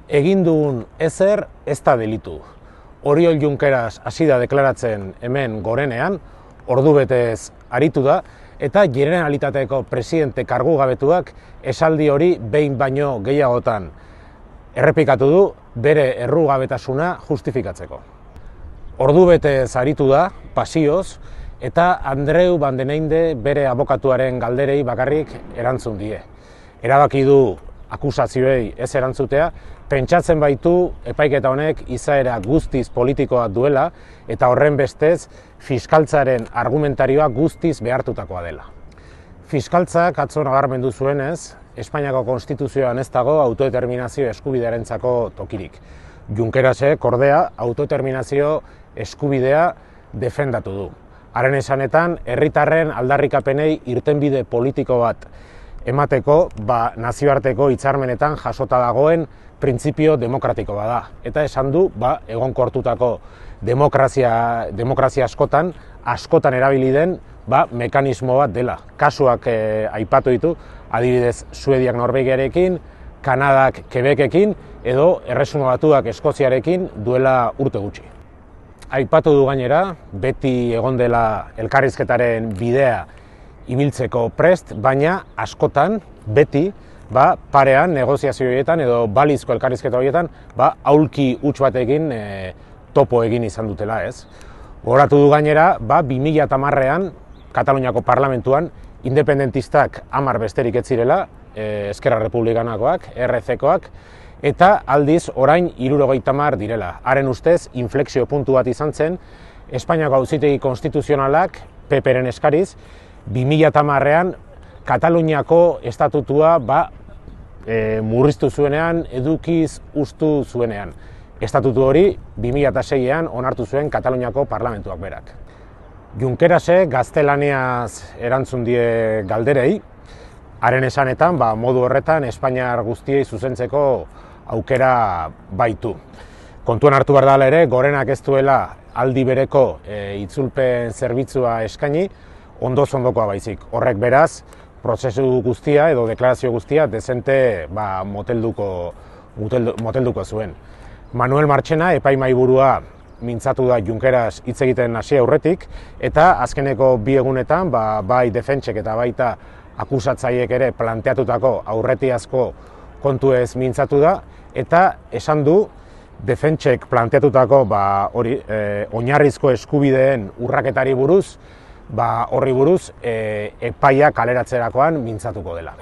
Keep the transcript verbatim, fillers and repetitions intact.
egin dugun ezer ez da delitu. Oriol Junqueras hasi da deklaratzen hemen gorenean, ordubetez aritu da, eta Generalitateko presidente kargugabetuak esaldi hori behin baino gehiagotan errepikatu du bere errugabetasuna justifikatzeko. Ordubetez aritu da, pasioz, eta Andreu Van den Einde bere abokatuaren galderei bakarrik erantzun die. Erabaki du akusazioei ez erantzutea, pentsatzen baitu epaiketa honek izaera guztiz politikoa duela eta horren bestez fiskaltzaren argumentarioa guztiz behartutakoa dela. Fiskaltzak atzo nabarmendu zuenez, Espainiako Konstituzioan ez dago autodeterminazio eskubidearentzako tokirik. Junquerasek ordea autodeterminazio eskubidea defendatu du. Haren esanetan, herritarren aldarrikapenei irtenbide politiko bat emateko, ba, nazioarteko hitzarmenetan jasota dagoen printzipio demokratiko bada. Eta esan du, ba, egonkortutako demokrazia, demokrazia askotan, askotan erabili den, ba, mekanismo bat dela. Kasuak eh, aipatu ditu, adibidez Suediak Norvegiarekin, Kanadak Quebecekin, edo Erresuma Batuak Eskoziarekin duela urte gutxi. Aipatu du gainera, beti egon dela elkarrizketaren bidea ibiltzeko prest, baina askotan, beti, ba, parean, negoziazio horietan edo balizko elkarrizketa horietan, ba, aulki huts batekin e, topo egin izan dutela, ez. Gogoratu du gainera, ba, bi mila hamarrean Kataluniako parlamentuan independentistak hamar besterik ez zirela, e, Eskerra Republikanakoak, R C-koak, eta aldiz orain hirurogeita hamar direla. Haren ustez, inflexio puntu bat izan zen, Espainiako Auzitegi Konstituzionalak, P P-ren eskariz, bi mila hamarrean Kataluniako estatutua ba, e, murriztu zuenean, edukiz ustu zuenean. Estatutu hori bi mila seian onartu zuen Kataluniako parlamentuak berak. Junquerasek gaztelaniaz erantzun die galderei, haren esanetan, ba, modu horretan Espainiar guztiei zuzentzeko aukera baitu. Kontuan hartu behar dela ere, gorenak ez duela aldi bereko e, itzulpen zerbitzua eskaini, ondoz ondokoa baizik. Horrek beraz, prozesu guztia edo deklarazio guztia dezente ba, motelduko, moteldu, motelduko zuen. Manuel Marchena, epaimahaiburua, mintzatu da Junqueras hitz egiten hasi aurretik, eta azkeneko bi egunetan, ba, bai defentsek eta baita akusatzaiek ere planteatutako aurretiazko kontuez mintzatu da, eta esan du defentsek planteatutako ba, hori, e, oinarrizko eskubideen urraketari buruz, ba, horri buruz e, epaia kaleratzerakoan mintzatuko dela.